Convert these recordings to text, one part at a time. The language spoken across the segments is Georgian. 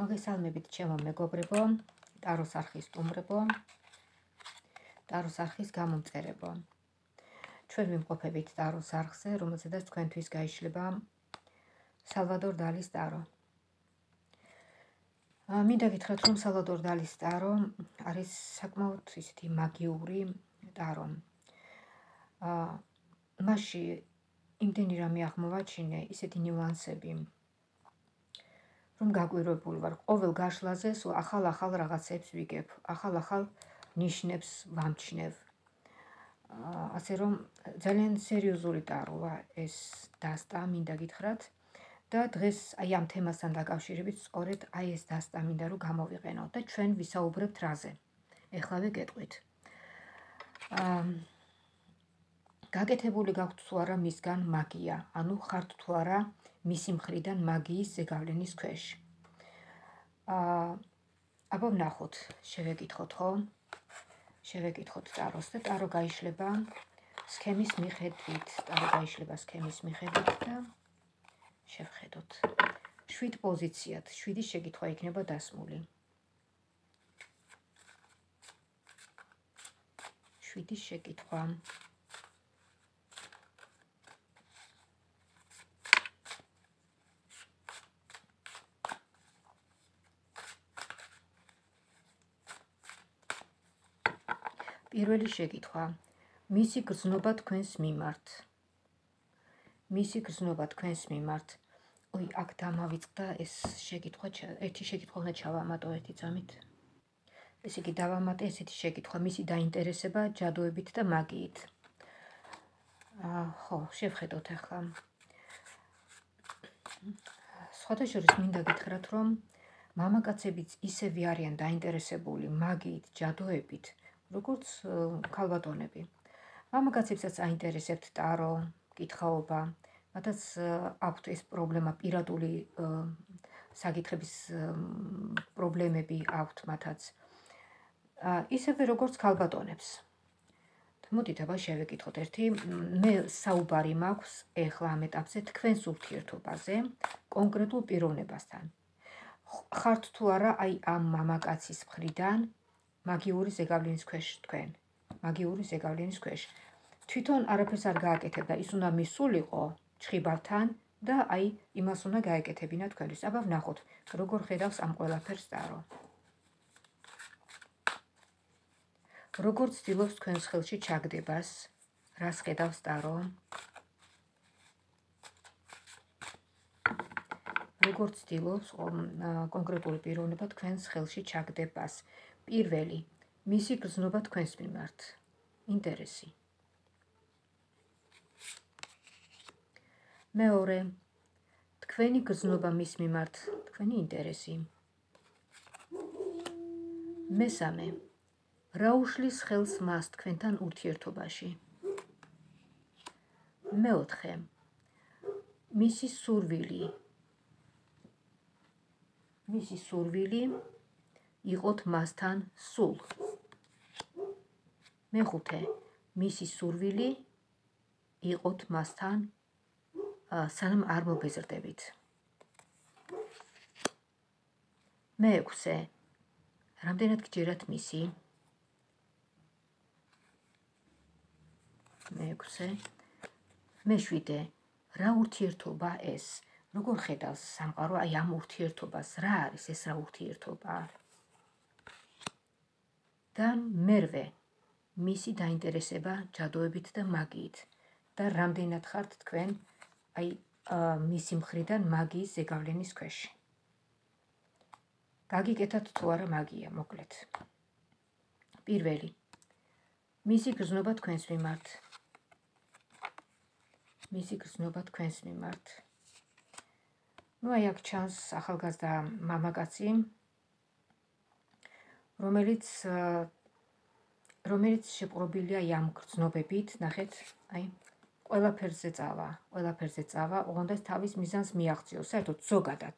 მოგესალმებით ჩემო მეგობრებო, ტაროს არხის სტუმრებო, ტაროს არხის გამომწერებო. ჩვენ ვიმყოფებით ტაროს არხზე, რომელზედაც თქვენთვის გაიშლება სალვადორ დალის ტარო. მინდა გითხრათ, რომ სალვადორ დალის ტარო არის საკმაოდ ისეთი მაგიური ტარო. მასში იმდენი რამე აღმოვაჩინე, ისეთი ნიუანსები, რომ გაკვირვებული ვარ. ყოველ გაშლაზე ახალ რაღაცებს ვიგებ, ახალ ნიშნებს ვამჩნევ. ასე რომ ძალიან სერიოზული ტაროა ეს დასტა, მინდა გითხრათ. და დღეს აი ამ თემასთან დაკავშირებით სწორედ აი ეს დასტა მინდა რომ გამოვიყენოთ და ჩვენ ვისაუბრებთ რაზე. ეხლავე გეტყვით. გაკეთებული გაქვთ თუ არა მისგან მაგია, ანუ ხართ თუ არა მისი მხრიდან მაგიის ზეგავლენის ქვეშ. აბა ვნახოთ, შევეკითხოთ ხო? შევეკითხოთ ტაროს და ტარო გაიშლება სქემის მიხედვით. ტარო გაიშლება სქემის მიხედვით და შევხედოთ. 7 პოზიციად, 7 შეკითხვა იქნება დასმული. 7 შეკითხვა. პირველი შეკითხვა. მისი გრძნობა თქვენს მიმართ. მისი გრძნობა თქვენს მიმართ. ой, აქ დამავიწყდა ეს შეკითხვა, ერთი შეკითხვა უნდა ჩავამატო ერთი წამით. ესე იგი დავამატე ესეთი შეკითხვა, მისი დაინტერესება ჯადოებით და მაგიით. ხო, შევხედოთ ახლა. სხვადასხვა მინდა გითხრათ, რომ მამაკაცებიც ისევე არიან დაინტერესებული მაგიით, ჯადოებით, როგორც ქალბატონები. მამაკაცებსაც აინტერესებთ ტარო, კითხაობა, მათაც აქვთ ეს პრობლემა, პირადული საკითხების პრობლემები აქვთ მათაც. ისევე როგორც ქალბატონებს. მოდით აბა შევეკითხოთ ერთი. მე საუბარი მაქვს ეხლა ამ ეტაპზე თქვენს ურთიერთობაზე, კონკრეტულ პიროვნებასთან. ხართ თუ არა აი ამ მამაკაცის მხრიდან მაგიური ზეგავლენის ქვეშ თქვენ. მაგიური ზეგავლენის ქვეშ. თვითონ არაფერს არ გააკეთებდა, ის უნდა მისულიყო ჩხიბავთან და აი იმას უნდა გაეკეთებინა თქვენთვის. აბა ვნახოთ, როგორ ხედავს ამ ყველაფერს ტარო. როგორ ცდილობს თქვენს ხელში ჩაგდებას, რას ხედავს ტარო? როგორ ცდილობს კონკრეტული პიროვნება თქვენს ხელში ჩაგდებას? პირველი, მისი გრძნობა თქვენს მიმართ. ინტერესი. მეორე, თქვენი გრძნობა მის მიმართ, თქვენი ინტერესი. მესამე, რა უშლის ხელს მას თქვენთან ურთიერთობაში? მეოთხე, მისი სურვილი. მისი სურვილი იყოთ მასთან სულ. მეხუთე, მისი სურვილი იყოთ მასთან სანამ არ მობეზრდებით. მეექვსე, რამდენად გჯერათ მისი? მეექვსე, მეშვიდე, რა ურთიერთობა ეს? როგორ ხედავს სამყარო აი ამ ურთიერთობას? რა არის ეს რა ურთიერთობა? და მერვე, მისი დაინტერესება ჯადოებით და მაგიით. და რამდენად ხართ თქვენ აი მისი მხრიდან მაგიის ზეგავლენის ქვეშ. გაგიკეთათ თუ არა მაგია, მოკლედ. პირველი, მისი გრძნობა თქვენს მიმართ. მისი გრძნობა თქვენს მიმართ. ნუ აი აქ ჩანს ახალგაზრდა მამაკაცი, რომელიც შეპყრობილია ამ გრძნობებით, ნახეთ, აი ყველაფერზე წავა, ოღონდ თავის მიზანს მიაღწიოს, საერთოდ ზოგადად.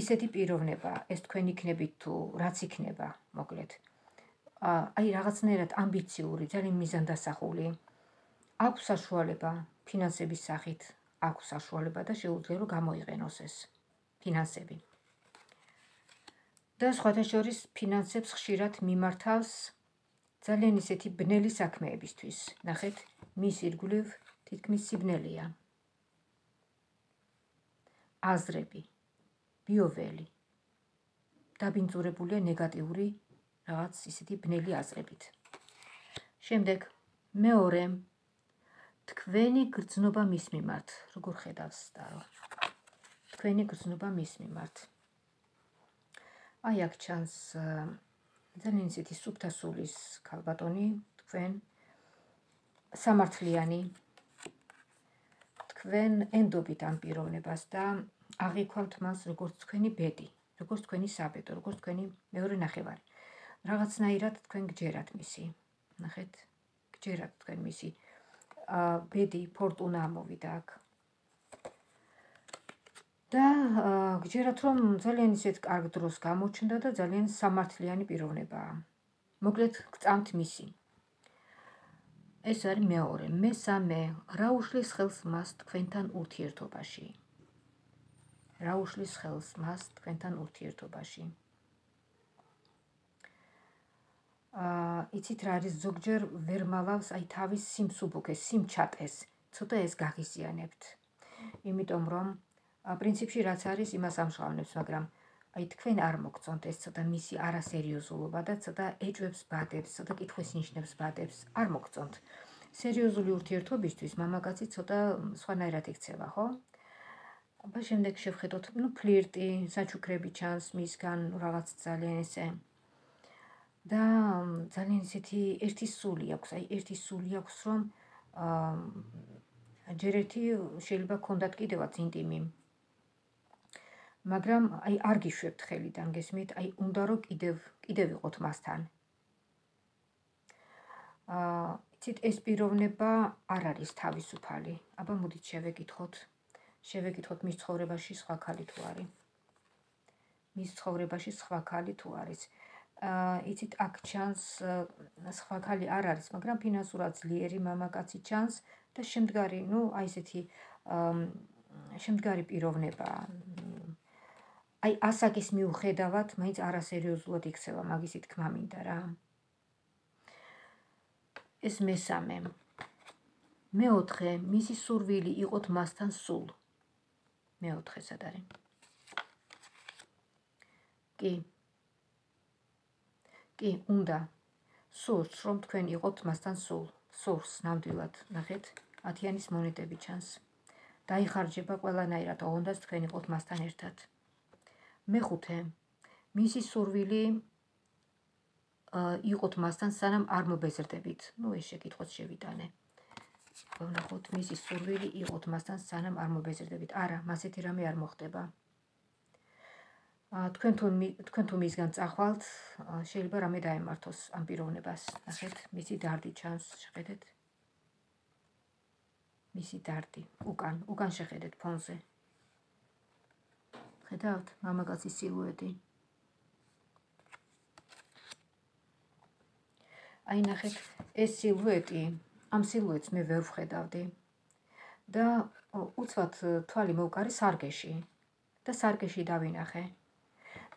ისეთი პიროვნება, ეს თქვენ იქნებით თუ რაც იქნება, მოკლედ. აი რაღაცნაირად ამბიციური, ძალიან მიზანდასახული. აქვს საშუალება ფინანსების სახით, აქვს საშუალება და შეუძლია რომ გამოიყენოს ეს ფინანსები. და სხვათა შორის ფინანსებს ხშირად მიმართავს ძალიან ისეთი ბნელი საქმეებისთვის. ნახეთ, მის ირგვლივ თითქმის სიბნელეა. აზრები, ბიოველი, დაბინძურებულია ნეგატიური რაღაც ისეთი ბნელი აზრებით. შემდეგ მეორე, თქვენი გრძნობა მის მიმართ, როგორ ხედავს სტარო? თქვენი გრძნობა მის მიმართ. აი აქ ჩანს ძალიან ისეთი სუფთა სულის ქალბატონი, თქვენ სამართლიანი, თქვენ ენდობით ამ პიროვნებას და აღიქვამთ მას როგორც თქვენი ბედი, როგორც თქვენი საბედო, როგორც თქვენი მეორე ნახევარი. რაღაცნაირად თქვენ გჯერათ მისი. ნახეთ, გჯერათ თქვენ მისი ბედი, ფორტუნა ამოვიდა აქ. და გჯერათ, რომ ძალიან ისეთ კარგ დროს გამოჩნდა და ძალიან სამართლიანი პიროვნებაა. მოკლედ, გწამთ მისი. ეს არის მეორე. მესამე, რა უშლის ხელს მას თქვენთან ურთიერთობაში? რა უშლის ხელს მას თქვენთან ურთიერთობაში? იცით რა არის, ზოგჯერ ვერ მალავს აი თავის სიმსუბუქეს, სიმჩატეს, ცოტა ეს გაღიზიანებთ. იმიტომ რომ პრინციპში რაც არის, იმას ამჟღავნებს, მაგრამ აი თქვენ არ მოგწონთ ეს ცოტა მისი არასერიოზულობა და ცოტა ეჭვებს ბადებს, ცოტა კითხვის ნიშნებს ბადებს, არ მოგწონთ. სერიოზული ურთიერთობისთვის მამაკაცი ცოტა სხვანაირად იქცევა, ხო? აბა შემდეგ შევხედოთ, ფლირტი, საჩუქრები ჩანს მისგან, რაღაც ძალიან ესე. და ძალიან ისეთი ერთი სული აქვს, აი ერთი სული აქვს, რომ ჯერ ერთი შეიძლება გქონდათ კიდევაც ინტიმი. მაგრამ აი არ გიშვებთ ხელიდან, გესმით, აი უნდა რომ კიდევ ვიყოთ მასთან. იცით, ეს პიროვნება არ არის თავისუფალი. აბა მოდით შევეკითხოთ მის ცხოვრებაში სხვა ქალი თუ არის. მის ცხოვრებაში სხვა ქალი თუ არის. იცით, აქ ჩანს სხვა ქალი არ არის, მაგრამ ფინანსურად ძლიერი მამაკაცი ჩანს და შემდგარი, აი ესეთი შემდგარი პიროვნებაა. აი ასაკის მიუხედავად, მაინც არასერიოზულად იქცევა, მაგისი თქმა მინდა რა. ეს მესამე. მეოთხე, მისი სურვილი იყოთ მასთან სულ. მეოთხე სად არის? კი, უნდა. სურს, რომ თქვენ იყოთ მასთან სულ. სურს, ნამდვილად, ნახეთ, 10-იანის მონეტები ჩანს. დაიხარჯება ყველანაირად, ოღონდაც თქვენ იყოთ მასთან ერთად. მეხუთე, მისი სურვილი იყოთ მასთან, სანამ არ მობეზრდებით. ეს შეკითხვაც შევიტანე. ვნახოთ, მისი სურვილი იყოთ მასთან, სანამ არ მობეზრდებით. არა, მასეთი რამე არ მოხდება. თქვენ თუ მისგან წახვალთ, შეიძლება რამე დაემართოს ამ პიროვნებას. ნახეთ, მისი დარდი ჩანს, შეხედეთ. მისი დარდი, უკან შეხედეთ ფონზე. ხედავთ, მამაკაცის სილუეტი. აი ნახეთ, ეს სილუეტი, ამ სილუეტს მე ვერ ვხედავდი. და უცბად თვალი მოვკარი სარკეში. და სარკეში დავინახე.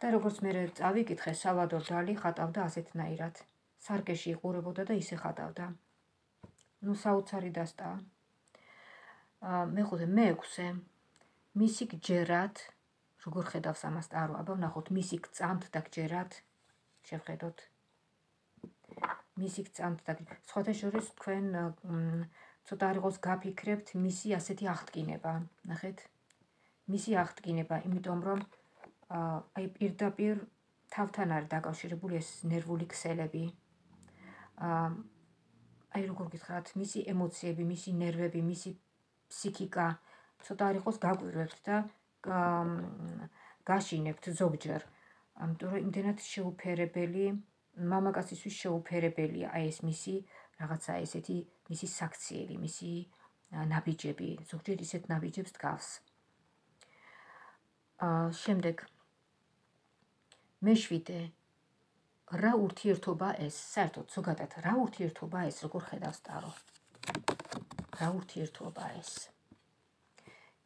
და როგორც მე წავიკითხე, სალვადორ დალი ხატავდა ასეთნაირად. სარკეში იყურებოდა და ისე ხატავდა. საოცარი დასტაა. მეექვსე, მისი გჯერათ, როგორ ხედავს ამას ტარო, აბა ვნახოთ, მისი გწამთ და გჯერათ, შევხედოთ. მისი გწამთ და სხვათა შორის თქვენ ცოტა არ იყოს გაფიქრებთ მისი ასეთი აღტკინება, ნახეთ. მისი აღტკინება, იმიტომ რომ აი პირდაპირ თავთან არის დაკავშირებული ეს ნერვული ქსელები. აი როგორ გითხრათ, მისი ემოციები, მისი ნერვები, მისი ფსიქიკა ცოტა არ იყოს გაგვირვებთ და გაშინებთ ზოგჯერ. ამიტომ რომ იმდენად შეუფერებელი, მამაკაცისთვის შეუფერებელია აი ეს მისი რაღაცა ესეთი მისი საქციელი, მისი ნაბიჯები, ზოგჯერ ისეთ ნაბიჯებს დგავს. შემდეგ მეშვიდე, რა ურთიერთობა ეს, საერთოდ ზოგადად რა ურთიერთობა ეს, როგორ ხედავს ტარო? რა ურთიერთობა ეს?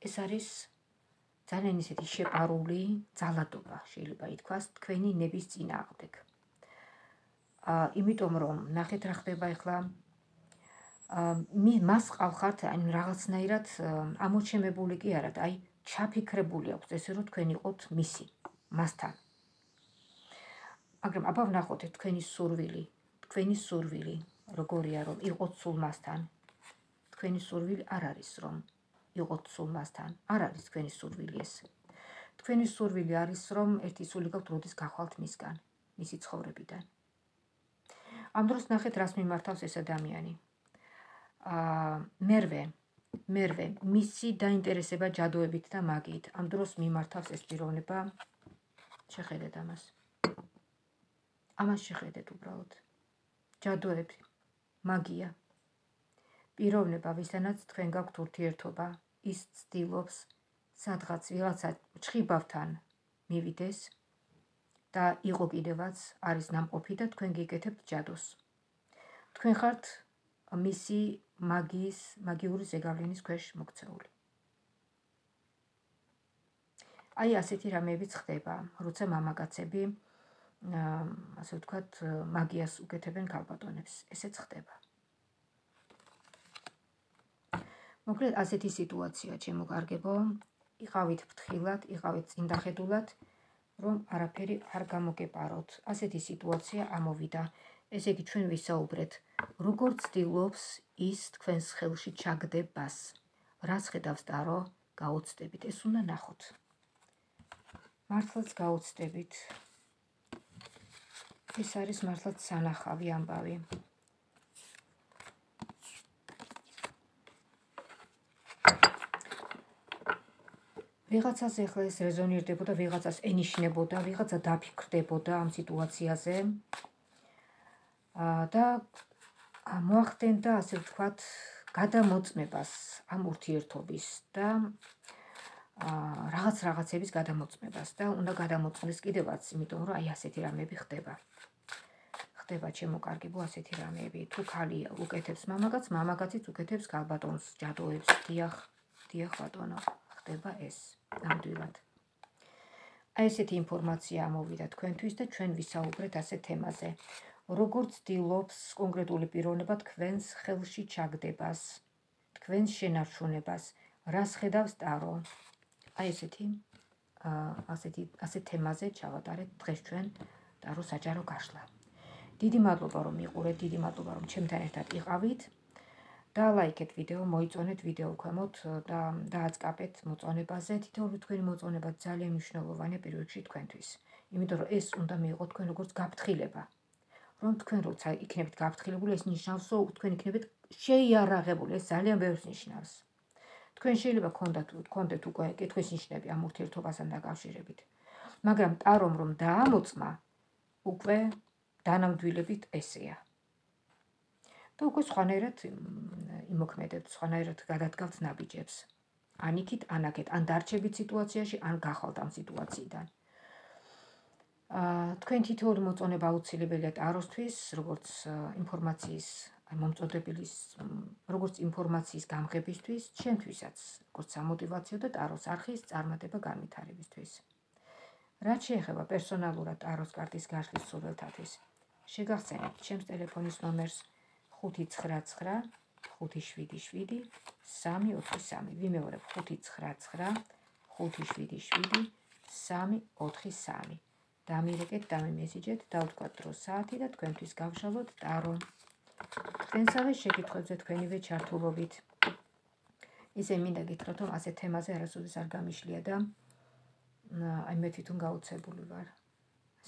ეს არის ძალიან ისეთი შეპარული ძალადობა შეიძლება ითქვას თქვენი ნების წინააღმდეგ. იმიტომ რომ ნახეთ რა ხდება ახლა მას ყავხართ რაღაცნაირად ამოჩემებული კი არა, აი ჩაფიქრებული აქვს ესე რომ თქვენ იყოთ მისი მასთან. მაგრამ აბა ვნახოთ თქვენი სურვილი როგორია რომ იყოთ სულ მასთან. თქვენი სურვილი არ არის რომ იყოთ სულ მასთან. არ არის თქვენი სურვილი ეს. თქვენი სურვილი არის რომ ერთი სული გაქვთ როდის გახვალთ მისგან, მისი ცხოვრებიდან. ამ დროს ნახეთ რას მიმართავს ეს ადამიანი. მერვე მისი დაინტერესება ჯადოებით და მაგიით. ამ დროს მიმართავს ეს პიროვნება. შეხედეთ ამას. ამას შეხედეთ უბრალოდ. ჯადოები, მაგია. პიროვნება, ვისთანაც თქვენ გაქვთ ურთიერთობა, ის ცდილობს სადღაც ვიღაცა ჭხიბავთან მივიდეს და იყო კიდევაც არის ნამყოფი და თქვენ გიკეთებთ ჯადოს. თქვენ ხართ მისი მაგიური ზეგავლენის ქვეშ მოქცეული. აი ასეთი რამეებიც ხდება, როცა მამაკაცები ასე ვთქვათ მაგიას უკეთებენ ქალბატონებს. ესეც ხდება. მოკლედ ასეთი სიტუაცია ჩემო კარგებო, იყავით ფრთხილად, იყავით წინდახედულად, რომ არაფერი არ გამოგეპაროთ. ასეთი სიტუაცია ამოვიდა. ესე იგი ჩვენ ვისაუბრეთ, როგორ ცდილობს ის თქვენს ხელში ჩაგდებას. რას ხედავს ტარო, გაუცდებით. ეს უნდა ნახოთ. მართლაც გაუცდებით. ეს არის მართლაც სანახავი ამბავი. ვიღაცას ახლა ეს რეზონირდებოდა, ვიღაცას ენიშნებოდა, ვიღაცა დაფიქრდებოდა ამ სიტუაციაზე და მოახდენდა ასე ვთქვათ გადამოწმებას ამ ურთიერთობის და რაღაცების გადამოწმებას და უნდა გადამოწმდეს კიდევაც, იმიტომ რომ აი ასეთი რამეები ხდება. ხდება ჩემო კარგებო ასეთი რამეები. თუ ქალი უკეთებს მამაკაცს, მამაკაციც უკეთებს ქალბატონს ჯადოებს. დიახ ბატონო, ხდება ეს ნამდვილად. აი ესეთი ინფორმაცია ამოვიდა თქვენთვის და ჩვენ ვისაუბრეთ ასეთ თემაზე. როგორ ცდილობს კონკრეტული პიროვნება თქვენს ხელში ჩაგდებას, თქვენს შენარჩუნებას, რას ხედავს ტარო. აი ასეთ თემაზე ჩავატარეთ დღეს ჩვენ ტარო საჯარო გაშლა. დიდი მადლობა რომ მიყურეთ, დიდი მადლობა რომ ჩემთან ერთად იყავით. დალაიქეთ ვიდეო, მოიწონეთ ვიდეო ქვემოთ და დააწყაპეთ მოწონებაზე. თითოეული თქვენი მოწონება ძალიან მნიშვნელოვანია პირველ რიგში თქვენთვის. იმიტომ რომ ეს უნდა მიიღოთ თქვენ როგორც გაფრთხილება. რომ თქვენ როცა იქნებით გაფრთხილებული, ეს ნიშნავს, რომ თქვენ იქნებით შეიარაღებული, ეს ძალიან ბევრს ნიშნავს. თქვენ შეიძლება გქონდეთ უკვე კითხვის ნიშნები ამ ურთიერთობასთან დაკავშირებით. მაგრამ ტარომ რომ დაამოწმა, უკვე დანამდვილებით ესეა. და უკვე სხვანაირად იმოქმედებთ, სხვანაირად გადადგავთ ნაბიჯებს. ან იქით, ან აქეთ, ან დარჩებით სიტუაციაში, ან გახვალთ ამ სიტუაციიდან. თქვენ თითოეული მოწონება აუცილებელია ტაროსთვის, როგორც ინფორმაციის მომწოდებლის, როგორც ინფორმაციის გამღებისთვის, ჩემთვისაც, როგორც სამოტივაციო და ტაროს არხის წარმატება განვითარებისთვის. რაც შეეხება პერსონალურად ტაროს კარტის გაშლის სურვილთათვის, შეგახსენებთ ჩემს ტელეფონის ნომერს 599 577 343. ვიმეორებ 599 577 343. დამირეკეთ, დამიმესიჯეთ, დავთქვათ დრო საათი და თქვენთვის გავშალოთ ტარო. თქვენსავე შეკითხვებზე თქვენივე ჩართულობით. ისე მინდა გითხრათ, რომ ასეთ თემაზე არასოდეს არ გამიშლია და აი მე თვითონ გაუცებული ვარ.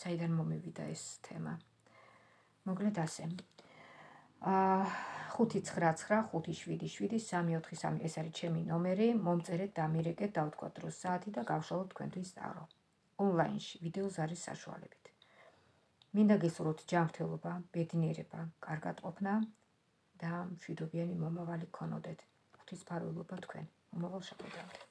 საიდან მომივიდა ეს თემა. მოკლედ ასე. 599 577 343 ეს არის ჩემი ნომერი. მომწერეთ, დამირეკეთ, დავთქვათ დრო საათი და გავშალოთ თქვენთვის ტარო. ონლაინში, ვიდეოს არის საშუალებით. მინდა გესურვოთ ჯანმრთელობა, ბედნიერება, კარგად ყოფნა და მშვიდობიანი მომავალი გქონოდეთ. ღვთისმფარველობა თქვენ. მომავალ შაბათამდე.